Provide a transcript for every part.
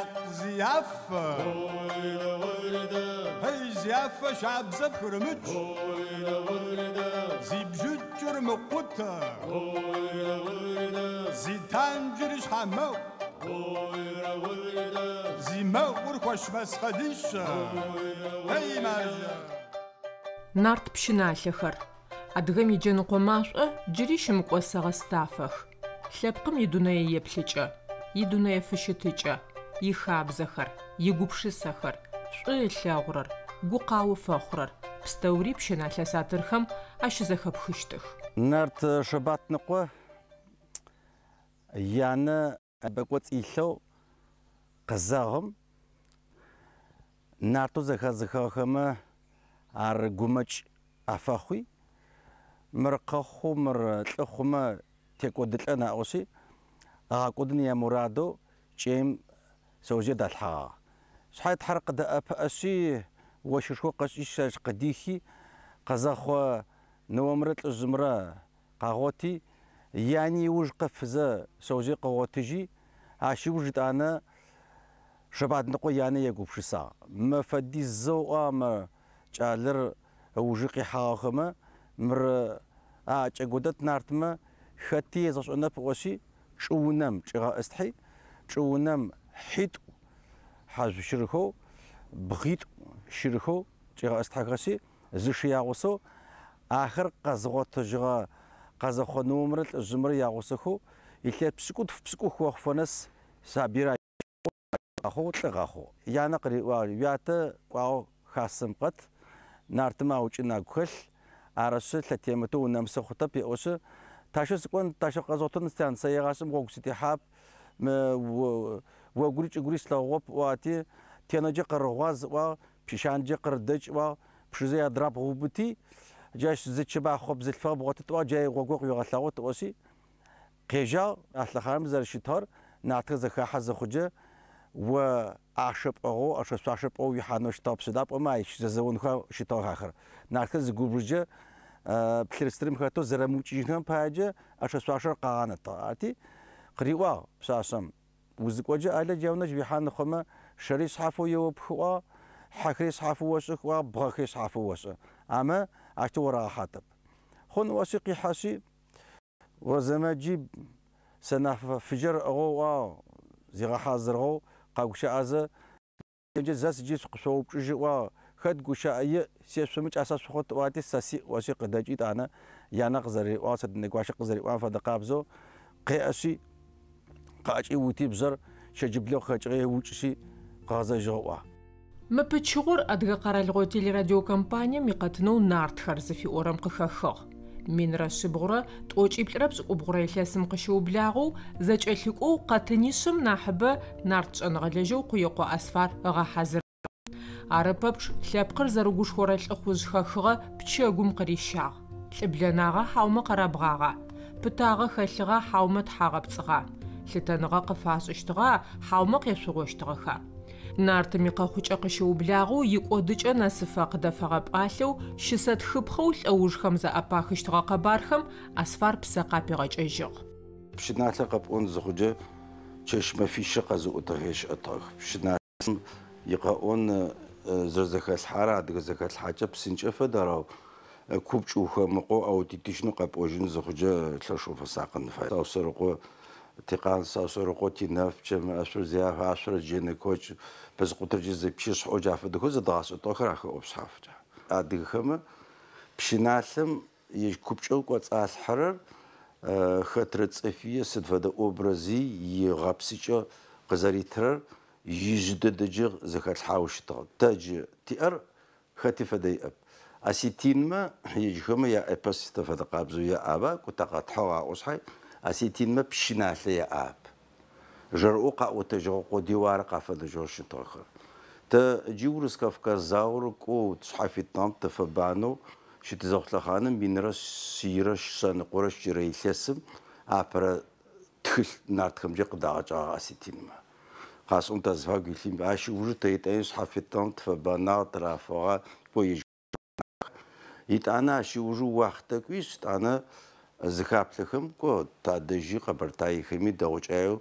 Якъ зи афэ. Эй, зи афэ шабзэ пхырымыкӏ. Зи бжыкӏыр мыкъутэ. Зи танджыр щхьэмэӏу. Зи мэӏур хуэш мэскъалищэ. Эй, маржэ. Нарт пщыналъэхэр. Адыгэм иджэныкъо машӏо джыри щымыкӏосэгъэ стафэх. Лъэпкъым идунэееплъыкӏэ, идунэефыщытыкӏэ, ихабзэхэр, игупшысэхэр, шӏу ылъэгъурэр, гукъао фэхъурэр, пстэури пщыналъэ сатырхэм ащызэхэпхыщтых. Нарт Шэбатныкъо янэ ыбэкӏоцӏ илъэу къызэгъым, нартэу зэхэзыхыгъэхэмэ ар гумэкӏ афэхъуи, мыр къэхъу, мыр лӏы хъумэ текӏодылӏэн аӏошъи, ыгъэкӏодын ямурадэу кӏэим шъэожъые далъхьэгъагъ. Шъхьай Тхьэр къыдэӏэпыӏэшъи, ощхышхо къэкӏи ащ къыдихи, къэзэхъо ныомрэ лӏыжъымрэ къагъоти, яни ыуж къыфызэ шъэожъые къыгъотыжьи, ащ ыуж етӏанэ Шэбатныкъо янэ егупшысагъ. Мэ фэдизэу ыӏуагъ мы кӏалэр ыужы къихьагъэхэмэ, мыр аӏэкӏэкӏодэт нартмэ, хэти езгъэшӏэнэп ыӏошъи, чӏыунэм чӏигъэӏыстхьи, чӏыунэм хьитӏу хьажъу щырхэу, бгъитӏу щырхэу чӏигъэӏыстхьэхэшъи, зы шы ягъусэу, ахэр къэзыгъотыжьыгъэ къэзэхъо ныомрэ лӏыжъымрэ ягъусэхэу илъэс пшӏыкӏутф-пшӏыкӏух охъуфэ нэс сабыир къэхъугъ, лӏы къэхъугъ. Янэ къыриӏуагъ, Уятэ кӏуагъэу хасэм къэт, нартымэ аукӏын агу хэлъ, арышъы, лъэтемытэу унэмысы хъутэп, еӏошъы, Тащэу сыкӏон, тащэу къэзгъотын, сян, сэ егъашӏэм гъогу сытехьап, мы огури чӏыгури слъэгъугъэп, ыӏуагъэти, Тенэджэ къырыгъуаз, ыӏуагъ, Пщышанджэ къырыдэкӏ, ыӏуагъ, Пшызэ иадрабгъу убыти, джащ зы чэбахъо бзылъфыгъэ бгъотыт, ыӏуагъ, джай гъогур къыуегъэлъэгъут, ыӏошъи, Къежьагъ, а лъэхъаным зэрэщытыгъэр, нартхэр зэхахьэ зыхъуджэ, о ӏашэ пӏыгъэу, ӏэшэ-шъуашэ пӏыгъэу уихьанэу щытыгъэп, сыда пӏомэ ащ зэзэонхэу щытыгъэх ахэр. Нартхэр зыгубжыджэ плъыр-стырым хэтэу зэрэмыукӏыжьынхэм паеджэ ӏэшэ-шъуашэр къагъанэтыгъ. Арти, къыриӏуагъ пшъашъэм, Узыкӏоджэ ӏэлэ джаунэжь уихьан хъумэ, шэри шъхьафэу еопхы ыӏуагъ, хьэхэри шъхьафэу ошӏых ыӏуагъ, бгъэхэри шъхьафэу ошӏы. Амэ, ащтэу орагъэхьатэп. Хъун ыӏошъи къихьэшъи, Орзэмэджи сэнаф фыжьыр ыӏыгъэу ыӏуагъ, зигъэхьазырыгъэу къэгущыӏэзэ, зэ сыджи сыкъышъоупчӏыжьы ыӏуагъ, хэт гущыӏэ иӏ, сешъомэ кӏасэ шъухъут ыӏуати, сэ сиӏ ыӏошъи къыдэкӏи тӏанэ янэ къызэриӏуагъ, Сэтэнэ-гуащэ къызэриӏуагъэм фэдэ къабзэу къеӏэшъи, къыӏэкӏиути бжъэр щэджыблэу къыхэкӏыгъи ыукӏышъи къыгъэзэжьыгъ ыӏуагъ. Мы пычыгъор Адыгэ къэралыгъо телерадиокомпанием икъэтынэу Нартхэр зыфиӏорэм къыхэхыгъ. Минрэ шъибгъурэ тӏокӏиплӏырэ пшӏыкӏубгъурэ илъэсым къыщыублагъэу зэкӏэлъыкӏоу къэтынишъым нахьыбэ нарт шӏэныгъэлэжьэу Къуекъо Асфар ыгъэхьазырыгъ. Ары пэпчъ лъэпкъыр зэрыгушхорэ лӏыхъужъ хэхыгъэ пчэгум къырищагъ. Лӏыблэнагъа хьаумэ къэрабгъагъа? Пытагъэ хэлъыгъа хьаумэ тхьагъэпцӏыгъа? Лъытэныгъэ къыфашӏыщтыгъа хьаумэ къешъугъощтыгъэха? Нартым икъэхъукӏэ къыщыублагъэу икӏодыкӏэ нэсыфэ къыдэфэгъэ пӏалъэу щысэтхыпхъэу лӏэужхэм зэӏэпахыщтыгъэ къэбархэм Асфар псэ къапигъэкӏэжьыгъ. Пщыналъэр къэпӏон зыхъукӏэ, чэщ-мэфищэ къэзыӏотагъэ щыӏэтыгъэх. Пщыналъэм икъэӏон зэрэзэхэлъхьарэ адыгэ зэхэлъхьакӏэ псынкӏэ фэд, ау купкӏ ухэмыкъоу аутентичнэу къэпӏожьын зыхъукӏэ лъэшэу уфэсакъын фае. Саусэрыкъо Тикъан, Саусэрыкъо Тинэф, Пчэмыӏэшъур Зиаф, Ашъорэ Джэнэкокӏ, Пэзыкъутырджы Зыпщышъхьэу джа фэдэхэу зэдгъашӏэтыгъэхэр ахэӏопшъхьафкӏэ. Адыгэхэмэ пщыналъэм ежь купкӏэу кӏоцӏалъхьэрэр хэтрэ цӏыфи сыд фэдэ образи игъэпсыкӏэ къызэритырэр ижъы дэдэджэ зэхэлъхьауэ щытыгъ. Тэ джы тиӏэр хэти фэдэ иӏэп. Осетинмэ ежьхэмэ яэпос тэ фэдэ къабзэу яӏаба, кӏо тэ къэтхьыгъ аӏо шъхьай, осетинмэ пщыналъэ яӏап. Жэрыӏоу къаӏотэжьыгъэ къодыеу ары къафэнэжьыгъэу щытыгъэхэр. Тэ джы Урыс-Кавказ заор кӏоу шъхьафитныгъэм тыфэбанэу щытызэхъу лъэхъаным минрэ шъийрэ шъэныкъорэ щырэ илъэсым апэрэ тхылъ нартхэмкӏэ къыдагъэкӏыгъагъ осетинмэ. Къасӏом тазыфагу илъым ащ ыужы тэ етӏани шъхьафитныгъэм тыфэбэнагъ, тырафыгъэ, кӏо ежь Етӏанэ ащ ыужы уахътэ кӏуишъ, етӏанэ зыхаплъэхэм, кӏо, тадэжьи къэбэртаехэми дэгъукӏаеу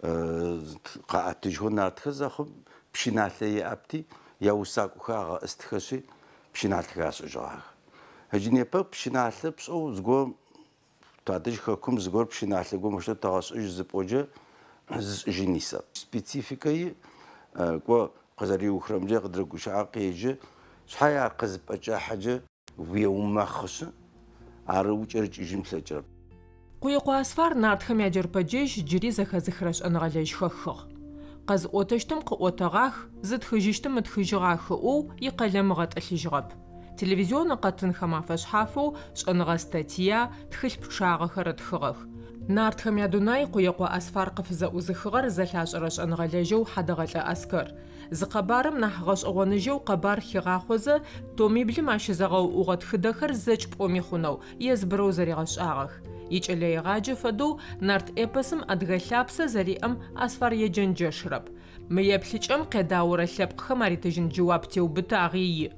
Къаӏэтыжьхэу нартхэр зэхъум, пщыналъэ яӏэпти, яусакӏохэр агъэӏыстхэшъи, пщыналъэхэр ашӏыжьыгъагъэх. Ыджы непэ пщыналъэ пшӏэу зыгорэм тадэжь хэкум зыгор пщыналъэ горэм мощтэу тэгъэшӏыжь зыпӏоджэ зышӏыжьын исэп. Спецификэ иӏ, кӏо къызэриухрэмкӏэ къыдрэгущыӏэ къеджэ, шъхьай ар къызыпӏэкӏахьэджэ уеумэхъышъы, ар укӏэрыкӏыжьын плъэкӏырэп. Къуекъо Асфар нартхэм яджэрпэджэжь джыри зэхэзыхырэ шӏэныгъэлэжь хэхыгъ. Къэзыӏотэщтым къыӏотэгъах, зытхыжьыщтым ытхыжьыгъах ыӏоу икъэлэм ыгъэтӏылъыжьыгъэп. Телевизионнэ къэтынхэм афэшъхьафэу шӏэныгъэ статья, тхылъ пчъагъэхэр ытхыгъэх. Нартхэм ядунай Къуекъо Асфар къыфызэӏузыхыгъэр зэлъашӏэрэ шӏэныгъэлэжьэу Хьадэгъэлӏэ Аскэр. Зы къэбарым нахь гъэшӏэгъоныжьэу къэбар хигъахъозэ, томиблым ащызэгъэуӏугъэ тхыдэхэр зэкӏ пӏоми хъунэу, езбырэу зэригъэшӏагъэх. Икӏэлэегъаджэ фэдэу нарт эпосым адыгэ лъапсэ зэриӏэм Асфар еджэнджэшырэп. Мы еплъыкӏэм къедаорэ лъэпкъхэм аритыжьын джэуап теубытагъи иӏ.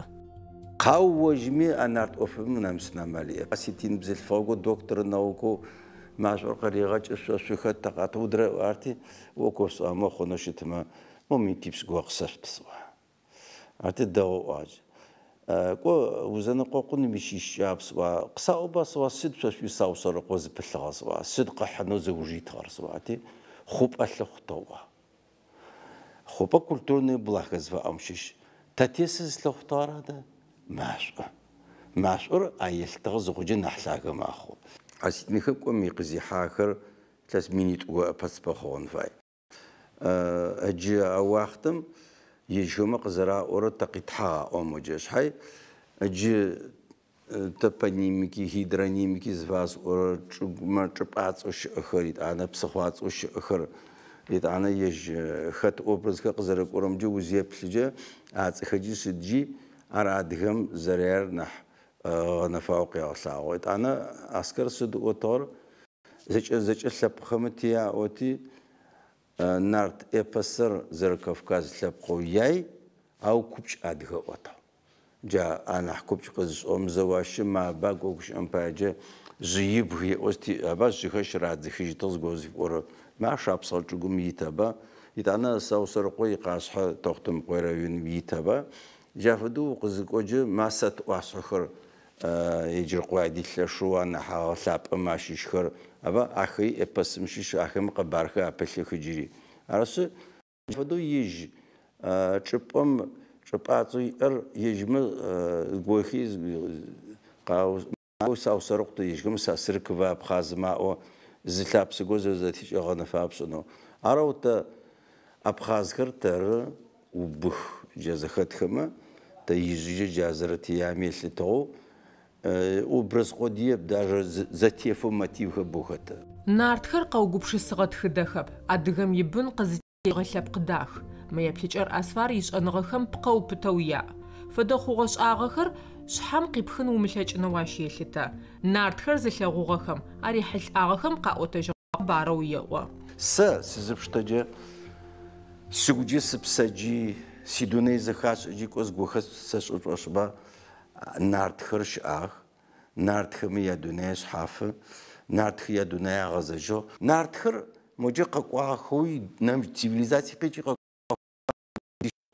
Къау ожьми а нарт ӏофым нэмысын амал иӏэп. Осетин бзылъфыгъэу доктор наукэу машӏор къыригъэкӏы шъо шъухэт тэкъатыудрэ арти окосӏуамэ хъунэу щытмэ мо минтипшӏ го къысэшъут сӏуа. Арти дэгъу ӏуагъ. Кӏо узэныкъокъун мыщищкӏап сӏуа. Къысаӏоба сӏуа сыд шъо шъуи Саусэрыкъо зыпылъыгъэ сӏуа. Сыд къыхьынэу зыуж итыгъэр сӏуа. Арти хъупӏэ лъыхъутыгъ. Хъупӏэ культурный благо зыфаӏом щыщ. Тэ тесы зылъыхъутыгъэр адэ машӏо. Машӏор а елъытыгъэ зыхъуджэ нахь лъагэ мэхъу. Осетинхэр кӏом икъызихьахэр илъэс минитӏу ӏэпэцыпэ хъугъэн фай. Ыджы а уахътэм ежьхэмэ къызэраӏорэ тэ къитхьагъ аӏомоджэ шъхьай ыджы топонимики, гидронимики зыфасӏорэ чӏыгумэ чӏыпӏацӏэу щыӏэхэр, итӏанэ псыхъуацӏэу щыӏэхэр, итӏанэ ежь хэт образхэр къызэрэкӏорэмкӏэ узеплъыджэ ацӏэхэджи сыджи ар адыгэм зэряер нахь гъэнэфагъэу къегъэлъагъо. Итӏанэ Аскэр сыд ыӏотыгъэр зэкӏэ зэкӏэ лъэпкъхэмэ тияӏоти нарт эпосыр зэрэ Кавказ лъэпкъэу яй, ау купкӏ адыгэ ӏотыгъ. Джа анахь купкӏ къызышӏыгъэм зэуащы маба гогущыӏэм паеджэ жъыибг еӏости аба жъыхэр щырадзыхыжьытыгъ зыгорэ зыфиӏорэ ма шапсыгъэ чӏыгум ит аба. Итӏанэ Саусэрыкъо икъашъхьэ Тэхъутэмыкъое районым ит аба. Джа фэдэу укъызыкӏоджэ масэт ӏуашъхьэхэр Еджэркъуади лъэшэу анахь агъэлъапӏэм ащыщхэр аба ахэри эпосым щыщ ахэм къэбархэр апылъых джыри. Арышъы фэдэу ежь чӏыпӏэм чӏыпӏацӏэу иӏэр ежьмэ зыгорхи Саусэрыкъу ежьхэм Сасыркова абхъазмэ аӏо зы лъапсэ горэ зэрэзэтекӏэ гъэнэфагъэ пшӏынэу. Арэу тэ абхъазхэр тэры убых джа зэхэтхэмэ тэ ижъыджэ джа зэрэтиями елъытыгъэу образ къодыеп даже зэтефэу мотивхэр боу хэты. Нартхэр къэугупшысыгъэ тхыдэхэп, адыгэм ибын къызытегъэ лъэпкъ дах. Мы еплъыкӏэр Асфар ишӏэныгъэхэм пкъэу пытэу яӏ. Фэдэ хъугъэ-шӏагъэхэр шъхьэм къипхын умылъэкӏынэу ащ елъытэ. Нартхэр зылъэгъугъэхэм, арихьылӏагъэхэм къаӏотэжьыгъэ къэбарэу еӏо. Сэ сызыпштэджэ сыгуджи сыпсэджи сидунай зэхашӏэджи кӏо зыгохэр сэшӏэ шӏошӏба нартхэр щыӏагъэх. Нартхэми ядунай шъхьафы, нартхэр ядунай агъэзэжьыгъ. Нартхэр моджэ къэкӏуагъэхэуи нэмыкӏ цивилизацие къикӏи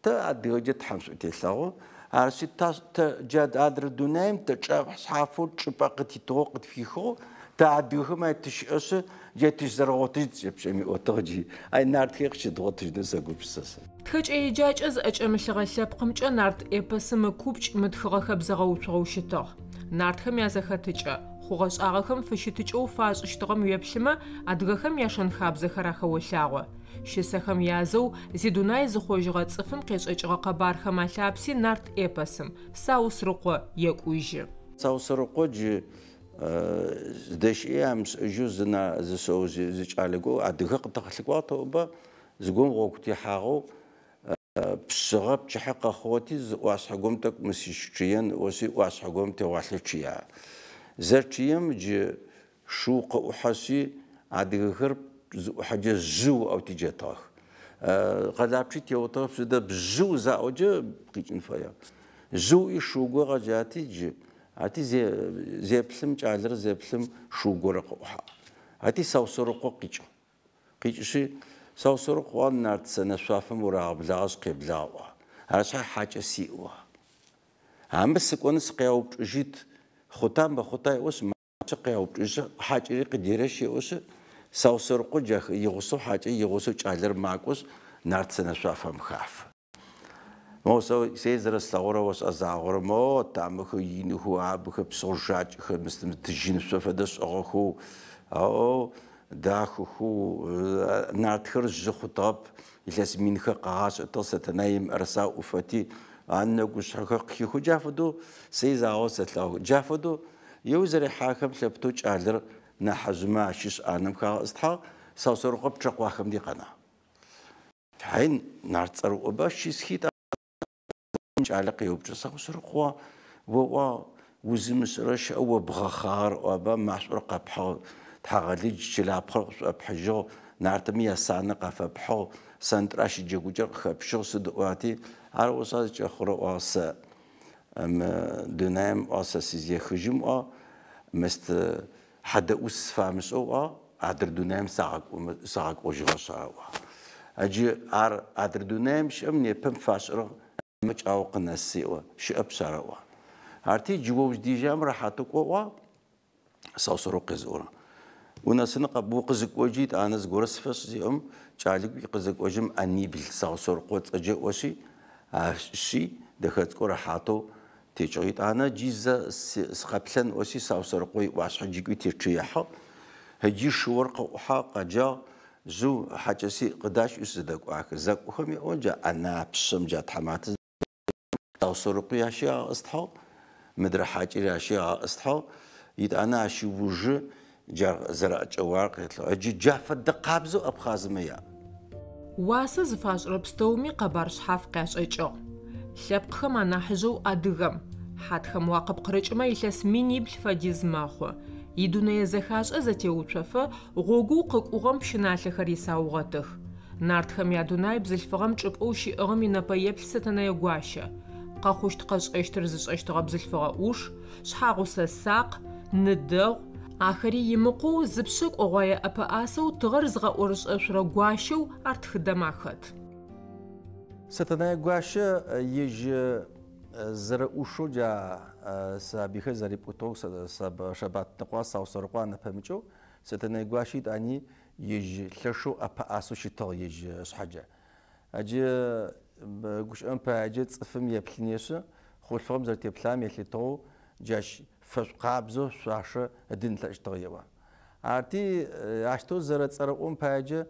тэ адыгэджэ Тхьэм шӏу телъэгъу. Арышъи тэ джа адрэ дунаим тэ шъхьафэу чӏыпӏэ къытитыгъэу къытфихыгъэу тэ адыгэхэм ай тыщыӏэшъы джа тыщызэрэгъотыжь тыкӏэпшӏэми ӏотыгъ джи ай нартхэр къыщыдгъотыжьынэу сэгупшысэ сэ. Тхэкӏэ-еджакӏэ зыӏэкӏэмылъыгъэ лъэпкъымкӏэ нарт эпосым ыкупкӏ мытхыгъэ хэбзэгъэуцугъэу щытыгъ. Нартхэм язэхэтыкӏэ, хъугъэ-шӏагъэхэм фыщытыкӏэу фашӏыщтыгъэм уеплъымэ, адыгэхэм яшэн-хабзэхэр ахэолъагъо. Щысэхэм язэу зидунай зыхъожьыгъэ цӏыфым къешӏэкӏыгъэ къэбархэм алъапси нарт эпосым Саусрыкъо екӏужьы. Саусэрыкъо джы зыдэщыӏи амышӏэжьэу зы шъэожъые зы кӏалэ гоу адыгэ къытэгъэлъыкӏуагъ тэӏоба зыгорэм гъогу техьагъэу пшъыгъэ пчыхьэ къэхъугъэти зы ӏуашъхьэ горэм тӏэкӏу мы сыщычъыен ыӏоси ӏуашъхьэ горэм тегъуалъэ чъыя. Зэчъыем джы шыу къыӏухьэшъи адыгэхэр зыӏухьэджэ жъыу ыӏэу тиджэтыгъэх. Къэлапчъи теутыгъэ сыдэп жъыу заӏоджэ къикӏын фэе. Жъыуи шыу горэ къэджати джы ати зеплъым кӏалэр зеплъым шыу горэ къыӏухьагъ. Ати Саусэрыкъо къикӏыгъ. Къикӏышъи Саусэрыкъу ыӏуагъ, Нарт сэнэ шъуафэм урагъэблагъэшъ къеблагъ ыӏуагъ. Ар шъхьай хьакӏэ сиӏ ыӏуагъ. Амэ сыкӏоны сыкъяупчӏыжьыт, хъута мыхъута еӏошъ, макӏошъы къяупчӏыжьы, хьакӏэри къыдерэщ еӏошъы, Саусэрыкъо джа игъусэу хьакӏэ игъусэу кӏалэр макӏошъ, нарт сэнэ шъуафэм хафэ. Моу сэ сэ зэрэслъэгъурэ ошӏа загъорэ мо тамэхэр иныхэу, абыхэр псыгъо жакӏэхэр мыстым тыжьынышъо фэдэ шӏыгъэхэу, ау дахэхэу, нартхэр жъы хъутыгъэп, илъэс минхэр къагъашӏэтыгъ, Сэтэнай имыӏэрысэ аӏуфэти, анэгушъхьэхэр къыхихэу, джа фэдэу сэ загъорэ сэлъэгъу. Джа фэдэу еу зэрехьахэм лъэптэу кӏалэр нахьыжъмэ ащыщ ӏанэм хагъэӏыстхьагъ, Саусэрыкъо пчъэкъуахэм ди къэнагъ. Хьай, нарт цӏэрыӏоба щысхи кӏалэ къеупчӏы, Саусэрыкъо, оӏуагъ, узымышӏэрэ щыӏэ о бгъэхъагъэр ыӏуаба, машӏор къэпхьыгъ, тхьагъэлыдж чылапхъэр къышӏопхьыжьыгъ, нартыми ясанэ къафэпхьыгъ, сэнтӏращ джэгукӏэр къыхэпщыгъ, сыд ыӏуати, ар ошӏа зыкӏэхъурэ ыӏуагъ сэ. Мы дунаим ыӏуагъ сэ сызехыжьым ыӏуагъ, мыст хьадэӏус сфамышӏэу ыӏуагъ, адрэ дунаим сагъэкӏожьыгъэшъ ары ыӏуагъ. Джы ар адрэ дунаим щыӏэм непэм фашӏырэ кӏау къынэсы еӏо, щыӏэпшъ ары ыӏуагъ. Арти джы о уздежьам рэхьатэу кӏо ыӏуагъ, Саусэрыкъу къезыӏорэ. Унэсыны укъызыкӏожьи етӏанэ зыгорэ сфэшӏ зеӏом, кӏалэ кӏуи къызэкӏожьым ӏэнибл Саусэрыкъо ыцӏэкӏэ ыӏошъи, ащи дэхэ цӏыкӏу рэхьатэу текӏыгъ. Етӏанэ джи зэ сыкъэплъэн ыӏошъи Саусэрыкъо иӏуашъхьэ джы кӏуи течъыехьыгъ. Ыджи шыор къыӏухьагъ, къэджагъ, жъыу хьакӏэ сиӏ, къыдащ ыӏуи сызэдэкӏуахэ. Зэкӏохэм еӏо джа ӏэнапшъэм джа тхьаматэ Саусэрыкъуи ащи агъэӏыстхьагъ, мыдрэ хьакӏэри ащи агъэӏыстхьагъ. Етӏанэ ащ ыужы джар зэрэӏэкӏэуагъэр къетлъыгъ. Ыджы джа фэдэ къабзэу абхъазмэ яӏ. Уасэ зыфашӏырэ пстэуми къэбар шъхьаф къяшӏэкӏыгъ. Лъэпкъхэм анахьыжъэу адыгэм, хьатхэм уакъыпкъырыкӏымэ илъэс минибл фэдиз мэхъу. Идунэе зэхашӏэ зэтеуцофэ гъогоу къыкӏугъэм пщыналъэхэр исаугъэтых. Нартхэм ядунай бзылъфыгъэм чӏыпӏэу щиӏыгъым инэпэеплъ Сэтэнэе гуащэ. Къэхъущт-къэшӏэщтыр зышӏэщтыгъэ бзылъфыгъэ ӏуш, шъхьагъусэ сакъ, ны дэгъу, ахэри имыкъоу зыпшъэ кӏогъуае ӏэпэӏасэу тыгъэр зыгъэӏорышӏэшъурэ гуащэу ар тхыдэм ахэт. Сэтэнэе гуащэ ежь зэрэӏушэу джа сабыйхэр зэрипӏутыгъэу Шэбатныкъуа, Саусэрыкъуа анэпэмыкӏэу Сэтэнэе гуащэ етӏани ежь лъэшэу ӏэпэӏасэу щытыгъ ежь ышъхьэкӏэ. Джы гущыӏэм паеджэ цӏыфым еплъынешъы, хъулъфыгъэм зэрэтеплъагъэм елъытыгъэу джащ фэшӏу къабзэу шъуашэ ыдын ылъэкӏыщтыгъ еӏо. Арти, ащтэу зэрэцӏэрыӏом паеджэ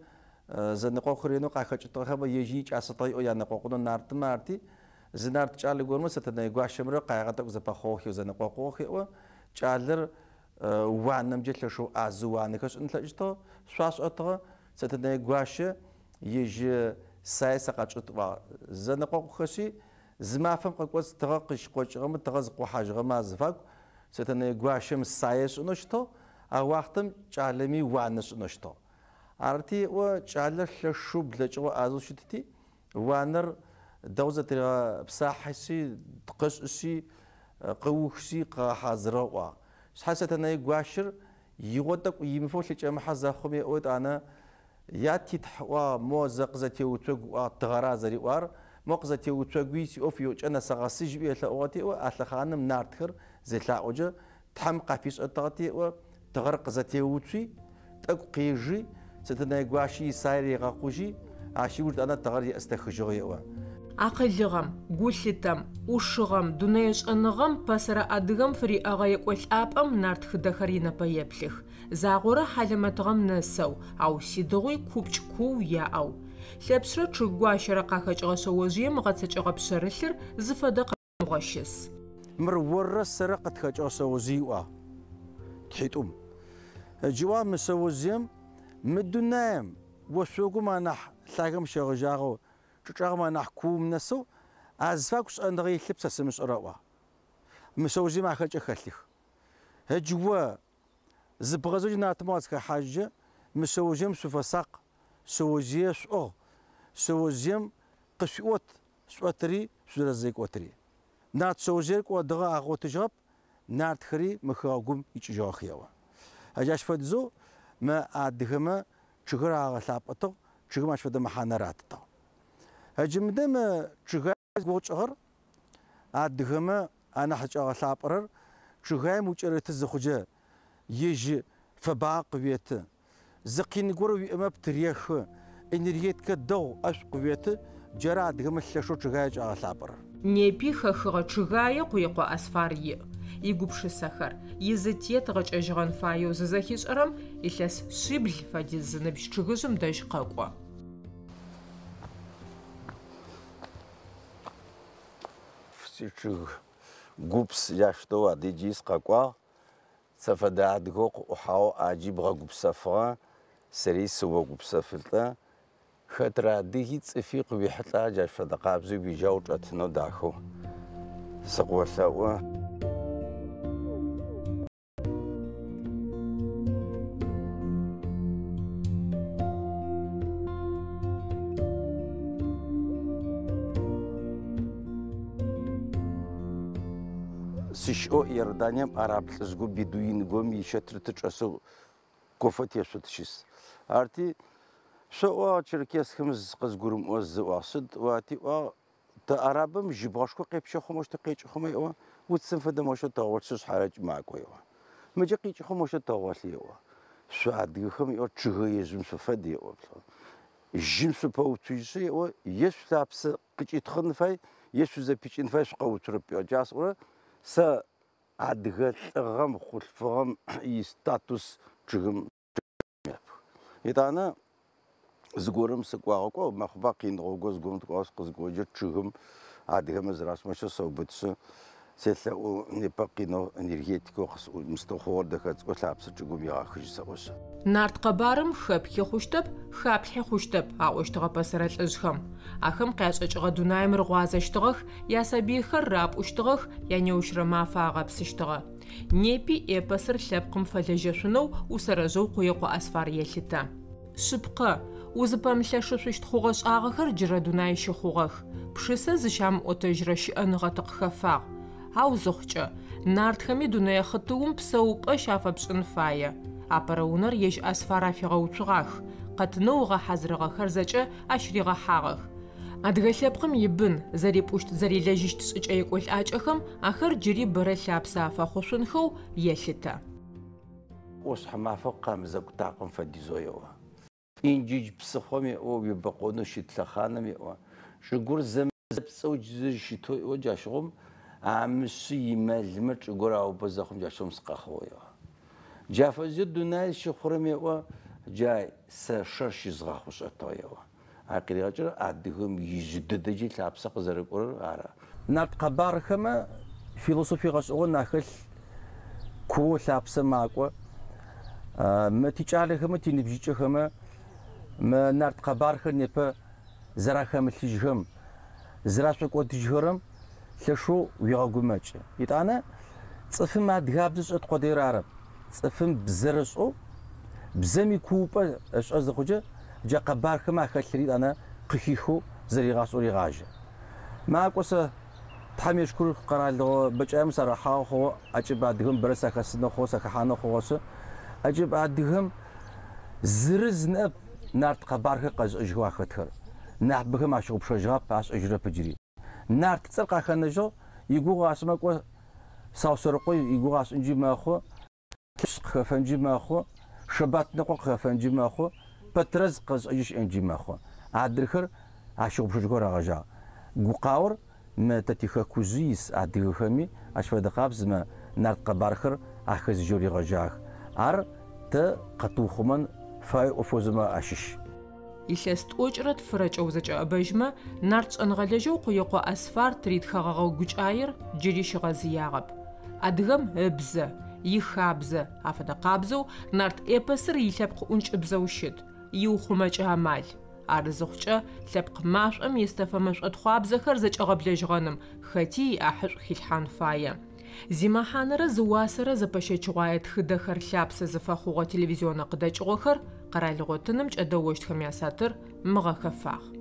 зэнэкъокъу ренэу къахэкӏытыгъэхэм ежьи икӏасэтыгъэ иӏэу янэкъокъунэу нартымэ арти, зы нарт кӏалэ горэмэ Сэтэнэе гуащэмрэ къаигъэ тӏэкӏу зэпэхъугъэхэу зэнэкъокъугъэх еӏо. Кӏалэр уанэмкӏэ лъэшэу ӏазэу уанэхэр ышӏын ылъэкӏыщтыгъ, шъуашӏэтыгъэ. Сэтэнэе гуащэ ежь сае сэ къэчӏыт ыӏуагъ. Зэнэкъокъухэшъи, зы мафэм къыкӏоцӏ тыгъэ къыщыкъокӏыгъэмэ, тыгъэ зыкъохьажьыгъэмэ азыфагу Сэтэнэе гуащэм сае ышӏынэу щытыгъ, а уахътэм кӏалэми уанэ ышӏынэу щытыгъ. Арыти, еӏо, кӏалэр лъэшэу блэкӏыгъэу ӏазэу щытыти, уанэр дэгъу зэтыригъэпсахьэшъи, къышӏышъи, къыухшъи, къыгъэхьазырыгъ ыӏуагъ. Шъхьэ Сэтэнэе гуащэр игъо тӏэкӏу имыфэу лъыкӏэмыхьэ зэхъум еӏо етӏанэ, Я титхь ыӏуагъ, мо зэ къызэтеуцогу ыӏуагъ, тыгъэра зэриӏуар, мо къызэтеуцогуи сиӏоф иокӏэ нэсэгъэсыжь ыӏуи елъэӏугъэти еӏо, а лъэхъаным нартхэр зелъаӏоджэ Тхьэм къафишӏэтыгъэти еӏо, тыгъэр къызэтеуцуи, тӏэкӏу къежи, Сэтэнэе гуащи исае ригъэкъужьи, ащ ыуж етӏанэ тыгъэр еӏыстэхыжьыгъ еӏо. Акъылыгъэм, гулъытэм, ӏушыгъэм, дунэе шӏэныгъэм пэсэрэ адыгэм фыриӏэгъэ екӏолӏапӏэм нарт тхыдэхэр инэпэеплъых. Загъорэ хьалэмэтыгъэм нэсэу, ау сидыгъуи купкӏ куу яӏэу. Лъэпшърэ чъыг гуащэрэ къахэкӏыгъэ шъэожъыем ыгъэцэкӏэгъэ пшъэрылъыр зыфэдэ къэмыхъугъэ щыс. Мыр оррэ сэрэ къытхэкӏыгъэ шъэожъый ыӏуагъ тхьитӏум. Джы ыӏуагъ мы шъэожъыем мы дунаим ошъогум анахь лъагэм щегъэжьагъэу чӏычӏэгъым анахь куум нэсэу азыфагу шӏэныгъэ илъып сэ сымышӏэрэ ыӏуагъ. Мы шъэожъыем ахэкӏэ хэлъых. Ыджы о зыбгъэзэу джы нартмэ уазыхэхьажькӏэ, мы шъэожъыем шъуфэсакъ, шъэожъые шъуӏыгъ, шъэожъыем къышъуиӏот шъушӏотыри шъузэрэзекӏотыри. Нарт шъэожъыер кӏодыгъэ агъотыжьыгъэп, нартхэри мы хэгъэгум икӏыжьыгъэх еӏо. Джащ фэдизэу мы адыгэмэ чъыгыр агъэлъапӏэтыгъ. Чъыгым ащ фэдэ мэхьанэ ратытыгъ. Ыджы мыдэ мы чъыгаем зигугъу адыгэмэ анахь зыкӏагъэлъапӏэрэр чъыгаем укӏэрыты зыхъукӏэ ежь фэбагъэ къыуеты. Зы къин горэ уиӏэмэ птырехы, энергетикэ дэгъу ӏэшӏу къыуеты, джары адыгэмэ лъэшэу чъыгае кӏагъэлъапӏэрэр. Непи хэхыгъэ чъыгае Къуекъо Асфар иӏ. Игупшысэхэр, изытет гъэкӏэжьыгъэн фаеу зызэхишӏэрэм илъэс шъибл фэдиз зыныбжь чъыгыжъым дэжь къэкӏо. Сичъыг гупс ящтэу адыджи сыкъэкӏуагъ. Сэ фэдэ адыгэу къыӏухьагъэу ӏаджи бгъэгупсэфыгъэ, сэри сыогупсэфылӏэ. Хэтрэ адыги цӏыфи къыуихьылӏа джащ фэдэ къабзэу уижьау чӏэтынэу дахэу сыкъыолъэӏу. Сыщыӏэу Иорданием араб лӏыжъго бедуингом ищэтыр тычӏэсэу кофе тешъо тыщыс. Арти шъоӏуагъ черкесхэм къызгурымыӏо зыӏуагъ. Сыд ӏуати ӏуагъ тэ арабым жьыбгъэшхо къепщэ хъумэ къекӏы хъумэ еӏо, уцым фэдэ мощэ тэгъолъы шъхьарэкӏ макӏо еӏо. Мыджэ къикӏы хъумэ мощэ тэгъолъы еӏо. Шъо адыгэхэм еӏо чъыгэежъым шъуфэд еӏо. Жьым шъупэуцужьышъы еӏо, е шъулъапсэ къыкӏитхъын фай, е шъузэпикӏын фай шъукъэуцурэп еӏо. Джа сӏорэ сэ адыгэ лӏыгъэм хъулъфыгъэм истатус чъыгым епх. Етӏанэ зыгорэм сыкӏуагъэ кӏо мэхъуба къиныгъо зыгорэм тыкӏуагъэ сыкъызыкӏоджэ чъыгым адыгэмэ зэрашӏымэщэ сэубытшъы селъэӏу непэ къинэу энергетикэу мыстыхъугъэр дэхэцӏыкӏо лъапсэ чӏыгум егъэхыжь сэӏошъы. Нарт къэбарым хэпхи хъущтэп, хаплъхьи хъущтэп, аӏощтыгъэ пэсэрэ лӏыжъхэм. Ахэм къяшӏэкӏыгъэ дунаим рыгъуазэщтыгъэх, ясабыйхэр рапӏущтыгъэх, янеущрэ мафэ агъэпсыщтыгъэ. Непи эпосыр лъэпкъым фэлэжьэшъунэу усэрэжъэу Къуекъо Асфар елъытэ. Шъыпкъэ, узыпэмылъэшышъущт хъугъэ-шӏагъэхэр джырэ дунай щыхъугъэх. Пшысэ зыщамыӏотэжьрэ щыӏэныгъэ тыкъыхэфагъ. Ау зыхъукӏэ, нартхэми дунэе хъытыум псэупӏэ щафэпшӏын фае. Апэрэ унэр ежь Асфар афигъэуцугъах, къэтынэу ыгъэхьазырыгъэхэр зэкӏэ ащ ригъэхьагъэх. Адыгэ лъэпкъым ибын, зэрипӏущт зэрилэжьыщт шӏыкӏэ екӏолӏакӏэхэм ахэр джыри бэрэ лъапсэ афэхъушъунхэу елъытэ. ӏошъхьэмафэ къамызэкӏу такъым фэдизэу еӏо. Инджыдж псыхъом еӏо, уебэкъонэу щыт лъэхъаным еӏо. Чӏыгур зэпцӏэу щытэу еӏо джащыгъум амышъы имэлмэ чӏыгур аубэ зэхъум джащыгъум сыкъэхъугъ еӏо. Джа фэдизэу дунай щыхъурэм еӏо, джа сэ шэр щызгъэхъушӏэтыгъ еӏо. Ар къыригъэкӏырэ адыгэм ижъы дэдэджи лъапсэ къызэрыкӏорэр ары. Нарт къэбархэмэ философие гъэшӏэгъон ахэлъ куоу лъапсэ макӏо. Мы тикӏалэхэмэ тиныбжьыкӏэхэмэ мы нарт къэбархэр непэ зэрахэмылъыжьхэм, зэрашӏокӏодыжьхэрэм лъэшэу уегъэгумэкӏы. Етӏанэ цӏыфым адыгабзэ ышӏэт къодыер арэп. Цӏыфым бзэр ышӏэу, бзэм икуупӏэ ышӏэ зыхъукӏэ, джа къэбархэмэ ахэлъри етӏанэ къыхихэу зэригъашӏэу регъажьэ. Макӏо сэ Тхьэм ешкур къэралыгъо бэкӏаем сарыхьагъэ хъугъэ, ӏэкӏыб адыгэм бэрэ сахэсынэу хъугъэ, сахэхьанэу хъугъэшъы. ӏэкӏыб адыгэм зырыз ныӏэп нарт къэбархэр къэзышӏэжьхэу ахэтхэр. Нахьыбэхэм ащыгъупшэжьыгъэп, ашӏэжьырэп ыджыри. Нарт цӏэр къахэнэжьыгъ, игугъу ашӏымэ кӏо Саусэрыкъо игугъу ашӏынджи мэхъу, Лъэпшъ къыхэфэнджи мэхъу, Шэбатныкъо къыхэфэнджи мэхъу, Пэтрэз къэзышӏэжьы щыӏэнджи мэхъу. Адрыхэр ащыгъупшэжьыхэу рагъэжьагъ. Гукъаор мы тэ тихэкужъы ис адыгэхэми ащ фэдэ къабзэмэ нарт къэбархэр ахэзыжьэу ригъэжьагъэх. Ар тэ къэтыухъумэн фае ӏофозымэ ащыщ. Илъэс тӏокӏырэ тфырэкӏэ узэкӏэӏэбэжьмэ, нарт шӏэныгъэлэжьэу Къуекъо Асфар тыритхэгъэгъэ гукӏаер джыри щыгъэзыягъэп. Адыгэм ыбзэ, ихабзэ афэдэ къабзэу нарт эпосыр илъэпкъ ӏункӏыбзэу щыт, иухъумэкӏэ амал. Ар зыхъукӏэ лъэпкъ машӏом естэфэ мэшӏотхъуабзэхэр зэкӏэгъэблэжьыгъэным хэти иӏахьышӏу хилъхьан фае. Зимэхьанэрэ зыуасэрэ зэпэщэчыгъуае тхыдэхэр лъапсэ зыфэхъугъэ телевизионнэ къыдэкӏыгъохэр къэралыгъо тыным кӏэдэощтхэм ясатыр мыгъэхэфагъ.